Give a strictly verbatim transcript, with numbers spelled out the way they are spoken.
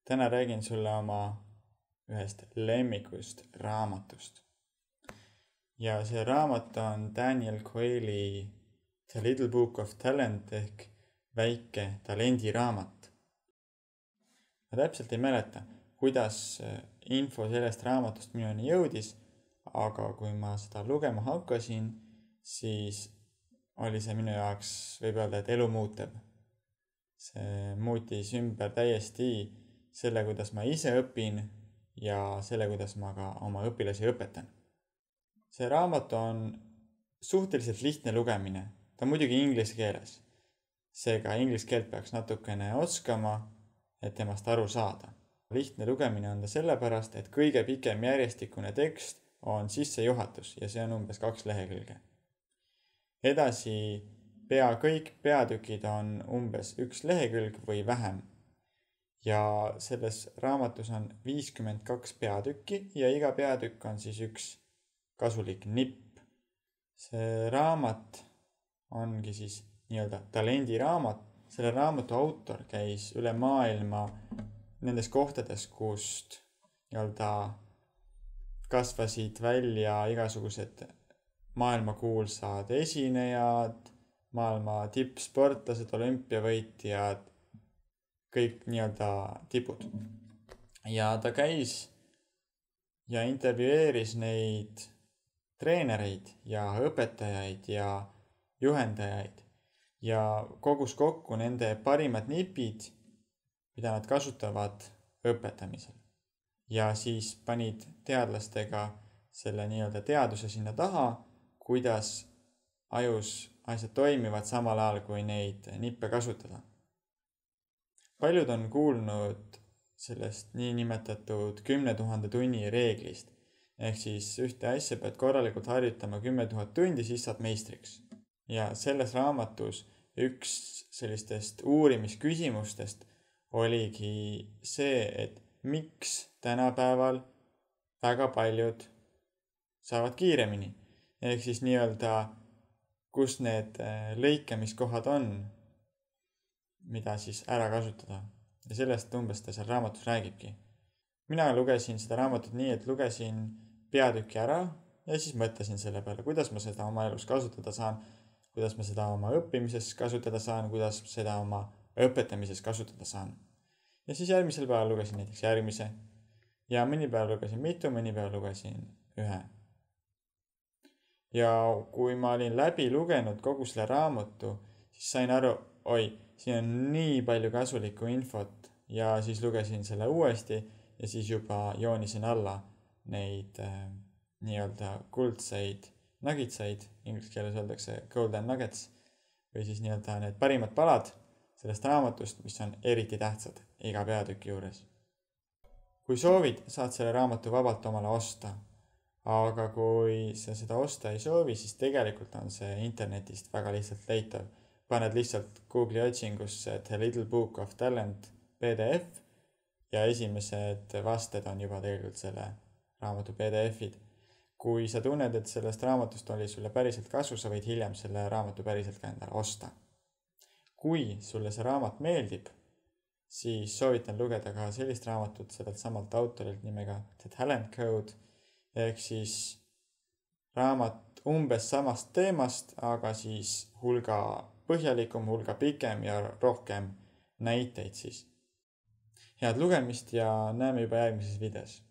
Täna räägin sulle oma ühest lemmikust raamatust. Ja see raamat on Daniel Coelho The Little Book of Talent ehk väike talendiraamat. Ma täpselt ei mäleta, kuidas info sellest raamatust minuni jõudis, aga kui ma seda lugema hakkasin, siis oli see minu jaoks, võib öelda, et elu muutev. See muutis ümber täiesti selle, kuidas ma ise õpin ja selle, kuidas ma ka oma õpilasi õpetan. See raamat on suhteliselt lihtne lugemine. Ta on muidugi inglise keeles. Seega inglise keelt peaks natukene oskama, et temast aru saada. Lihtne lugemine on ta sellepärast, et kõige pikem järjestikune tekst on sissejuhatus ja see on umbes kaks lehekülge. Edasi pea kõik peatükid on umbes üks lehekülg või vähem. Ja selles raamatus on viiskümmend kaks peatükki ja iga peatükk on siis üks kasulik nipp. See raamat ongi siis nii-öelda talendiraamat. Selle raamatu autor käis üle maailma nendes kohtades, kust nii-öelda kasvasid välja igasugused maailmakuulsad esinejad, maailma tippsportlased, olümpiavõitjad, kõik nii-öelda tipud. Ja ta käis ja intervjueeris neid treenereid ja õpetajaid ja juhendajaid ja kogus kokku nende parimad nipid, mida nad kasutavad õpetamisel. Ja siis panid teadlastega selle nii-öelda teaduse sinna taha, kuidas ajus asjad toimivad samal ajal, kui neid nippe kasutada. Paljud on kuulnud sellest niinimetatud kümne tuhande tunni reeglist. Ehk siis ühte asja pead korralikult harjutama kümme tuhat tundi, siis saad meistriks. Ja selles raamatus üks sellistest uurimisküsimustest oligi see, et miks tänapäeval väga paljud saavad kiiremini. Ehk siis nii-öelda, kus need lõikamiskohad on, mida siis ära kasutada. Ja sellest umbes ta seal raamatus räägibki. Mina lugesin seda raamatut nii, et lugesin peatüki ära ja siis mõtlesin selle peale, kuidas ma seda oma elus kasutada saan, kuidas ma seda oma õppimises kasutada saan, kuidas seda oma õpetamises kasutada saan. Ja siis järgmisel päeval lugesin näiteks järgmise ja mõni päev lugesin mitu, mõni päev lugesin ühe. Ja kui ma olin läbi lugenud kogu selle raamatu, siis sain aru, oi, siin on nii palju kasulikku infot ja siis lugesin selle uuesti ja siis juba joonisin alla neid äh, nii-öelda kuldseid nuggetseid, inglise keeles öeldakse golden nuggets, või siis nii-öelda need parimad palad sellest raamatust, mis on eriti tähtsad iga peatüki juures. Kui soovid, saad selle raamatu vabalt omale osta, aga kui sa seda osta ei soovi, siis tegelikult on see internetist väga lihtsalt leitav. Paned lihtsalt Google'i otsingusse The Little Book of Talent P D F ja esimesed vasted on juba tegelikult selle raamatu P D F-id. Kui sa tunned, et sellest raamatust oli sulle päriselt kasu, sa võid hiljem selle raamatu päriselt ka endale osta. Kui sulle see raamat meeldib, siis soovitan lugeda ka sellist raamatut sellelt samalt autorilt nimega The Talent Code, ehk siis raamat umbes samast teemast, aga siis hulga põhjalikum, hulga pikem ja rohkem näiteid siis. Head lugemist ja näeme juba järgmises videos.